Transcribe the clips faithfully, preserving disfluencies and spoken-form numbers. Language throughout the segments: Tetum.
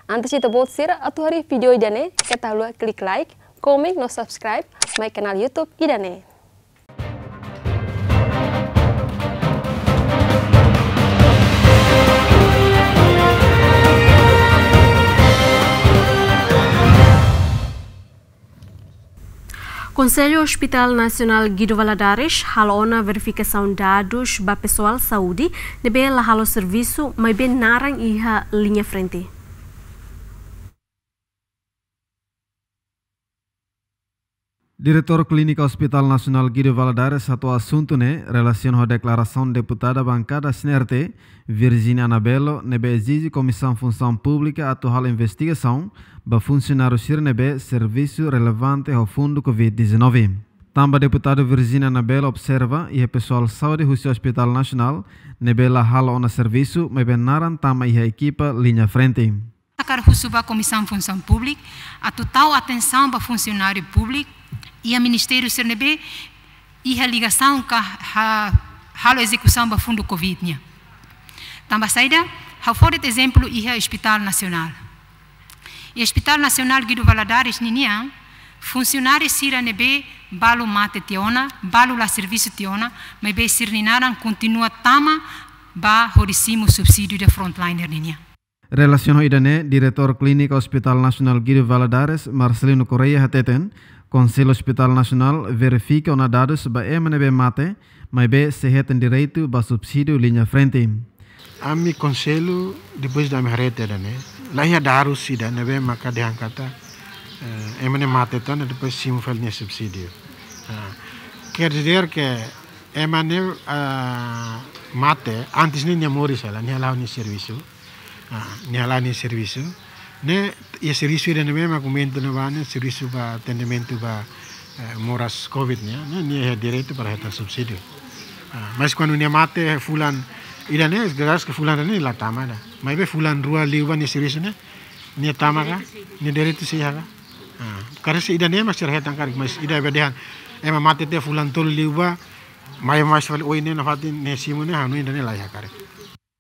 Antes ita-boot sira atu haree vídeo ida-ne'e, keta haluha klik like, komen no subscribe mai kanál YouTube ida-ne'e. Konsellu Hospital Nasionál Guido Valadares halo ona verifikasaun dadus ba pesoál saúde ne'ebé la halo servisu, maibé naran iha liña frente. Diretór Klínika Hospital Nasionál Guido Valadares hato'o asuntu ne'e relasiona ho deklarasaun deputada bankada C N R T, Virginia Anabelo, ne'ebé ezije Komisaun Funsaun Públika atu halo investigasaun ba funsionáriu sira ne'ebé servisu relevante ho fundu covid dezanove. Tanba deputada Virginia Anabelo observa iha pesoál saúde husi Hospital Nasionál ne'ebé la halo ona servisu, maibé naran tama iha ekipa liña frente. Hakarak husu ba Komisaun Funsaun Públika atu tau atensaun ba funsionáriu públiku iha ministériu sira ne'ebé iha ligasaun ka ha-, halo ezekusaun ba fundu covid nian. Tanba saida, ha'u fó de'it ezemplu iha Hospital Nasionál. Iha Hospital Nasionál Guido Valadares ninian, funsionáriu sira ne'ebé balu mate tiha ona, balu la servisu tiha ona, maibé sira-nia naran kontinua tama ba hodi simu subsídiu de frontliner ninian. Relasiona ho ida-ne'e, Diretór Klínika Hospital Nasionál Guido Valadares, Marcelino Correia hateten, Konsellu Hospital Nasionál verifika ona dadus ba ema ne'ebé mate, maibé sei hetan direitu ba subsídiu liña frente. Ami konsellu, depois de ami haree tiha ida-ne'e, la iha dadus ida ne'ebé maka dehan katak, eh, ema ne'e mate tiha ona depois simu fali nia subsídiu. Ah, quer dizer que ema ne'e, ah, mate, antes ne'e nia moris hela, nia hala'o nia servisu. Ah, nia hala'o nia servisu. Ne'e, iha servisu ida ne'ebé mak komentu ne'ebá ne'e, servisu ba atendimentu ba, eh, moras covid nian, ne'e, nia iha direitu para hetan subsídiu. Ah, mas kuandu nia mate fulan ida-ne'e, jelas ke fulan ida-ne'e la tama ida. Maibé fulan rua liubá nia servisu ne'e, nia tama ka, nia direitu sei iha ka. Ah, karik se ida-ne'e mak sira hetan karik, mas ida be dehan ema mate tiha fulan tolu liubá, mai mais fali oin ne'e nafatin nia simu ne'e, ha'u hanoin ida-ne'e la iha karik.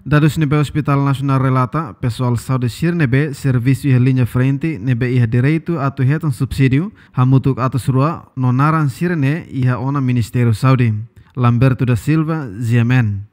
Dadus ne'ebé Hospital Nasionál relata, pesoál saúde sira ne'ebé servisu iha liña frente ne'ebé iha direitu atu hetan subsídiu, hamutuk atus rua no naran sira ne'e iha ona Ministériu Saúde. Lamberto da Silva, G M N.